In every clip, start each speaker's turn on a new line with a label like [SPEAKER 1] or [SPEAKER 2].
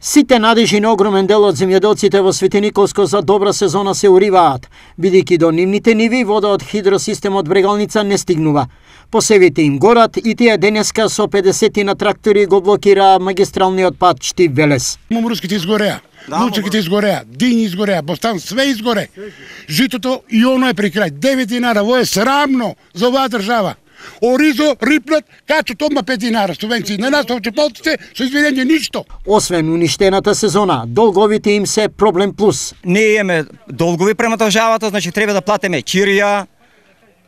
[SPEAKER 1] Сите надежи на огромен дел од земјоделците во Светиниковско за добра сезона се уриваат, бидејќи до нивните ниви вода од хидросистемот Брегалница не стигнува. Посевите им горат и тие денеска со 50 на трактори го блокира магистралниот пат Штип-Велес.
[SPEAKER 2] Мумруските изгореа, лучките изгореа, дињи изгореа, Бостан све изгоре. Житото и оно е при крај. 9 динара, во е срамно за оваа држава. Оризо, рипнат, качат одма 5 динара субвенции. На нас овчеполците со извинение ништо.
[SPEAKER 1] Освен уништената сезона, долговите им се проблем плюс.
[SPEAKER 3] Ние имаме долгови према државата, значи треба да платиме кирија,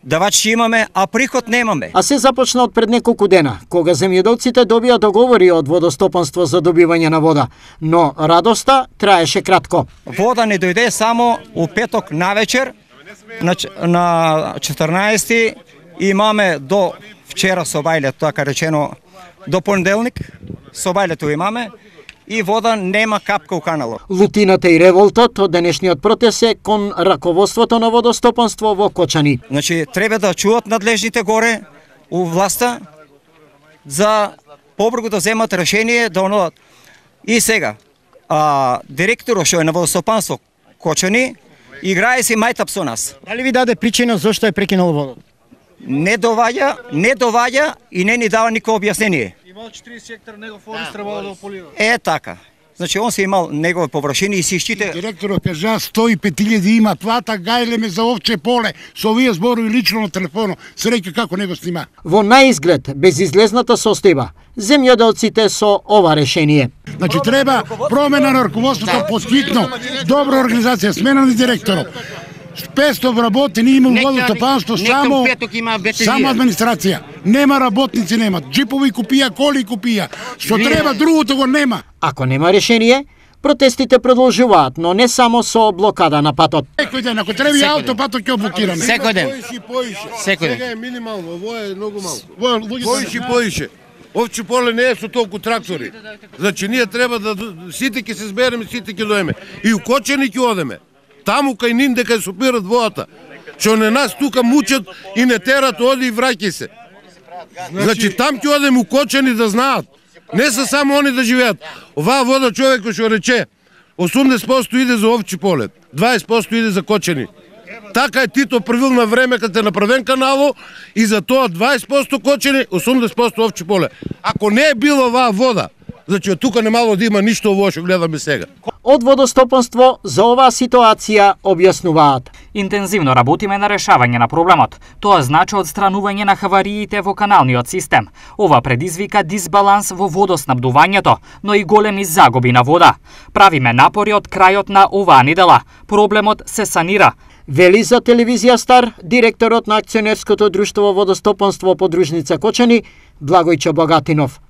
[SPEAKER 3] давачи имаме, а приход немаме.
[SPEAKER 1] А се започна од пред неколку дена, кога земјоделците добија договори од водостопанство за добивање на вода, но радоста траеше кратко.
[SPEAKER 3] Вода не дојде само у петок навечер, на 14 имаме до вчера собајле, така речено, до понеделник собајлето имаме и вода нема капка у каналот.
[SPEAKER 1] Лутината и револтот од денешниот протест е кон раководството на водостопанство во Кочани.
[SPEAKER 3] Значи треба да чуат надлежните горе у власта за побрзо да земат решение да онодат. И сега директорот што е на водостопанство Кочани играе си мајтап со нас.
[SPEAKER 1] Дали ви даде причина зошто е прекинал водот?
[SPEAKER 3] Не доваѓа и не ни дава никакво објаснение.
[SPEAKER 4] Имал 40 хектар негов форест требало да го полива.
[SPEAKER 3] Е така. Значи он се имал негови површини и си штите.
[SPEAKER 2] Директорот кажа 105.000 има плата, гајлеме за овче поле. Со овие зборови лично на телефоно. Се река како него снима.
[SPEAKER 1] Во наизглед безизлезната состојба, земјоделците со ова решение.
[SPEAKER 2] Значи треба промена на раководството поскитно, добра организација, смена на директорот. 500 вработени има водостопанство само администрација. Нема работници, нема. Джипови купија, коли купија. Што треба другото го нема.
[SPEAKER 1] Ако нема решение, протестите продолжуваат, но не само со блокада на патот.
[SPEAKER 2] Секој ден, ако треба и аутопатот ќе блокираме.
[SPEAKER 5] Секој ден.
[SPEAKER 6] Сега е минимално, ово е многу малку. Поише. Овче поле не е со толку трактори. Значи ние треба да сите ќе се збереме, сите ќе доеме. И у Кочани ќе одеме. Таму кај ним дека супират водата. Што не нас тука мучат и не терат, оди и враќај се. Значи там ќе одеме у Кочани да знаат. Не се само они да живеат. Оваа вода човек што рече 80% иде за овче поле, 20% иде за Кочани. Така е Тито правил на време кога е направен канало и за тоа 20% Кочани, 80% овче поле. Ако не е била оваа вода, значи тука немало да има ништо ово што гледаме сега.
[SPEAKER 1] Од водостопанство за оваа ситуација објаснуваат.
[SPEAKER 7] Интензивно работиме на решавање на проблемот. Тоа значи одстранување на хавариите во каналниот систем. Ова предизвика дисбаланс во водоснабдувањето, но и големи загуби на вода. Правиме напори од крајот на оваа недела. Проблемот се санира.
[SPEAKER 1] Вели за телевизија Стар директорот на акционерското друштво водостопанство подружница Кочани Благојче Богатинов.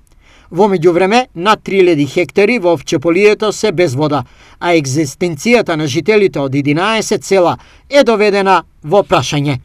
[SPEAKER 1] Во меѓувреме, над 3000 хектари во овчеполието се без вода, а екзистенцијата на жителите од 11 села е доведена во прашање.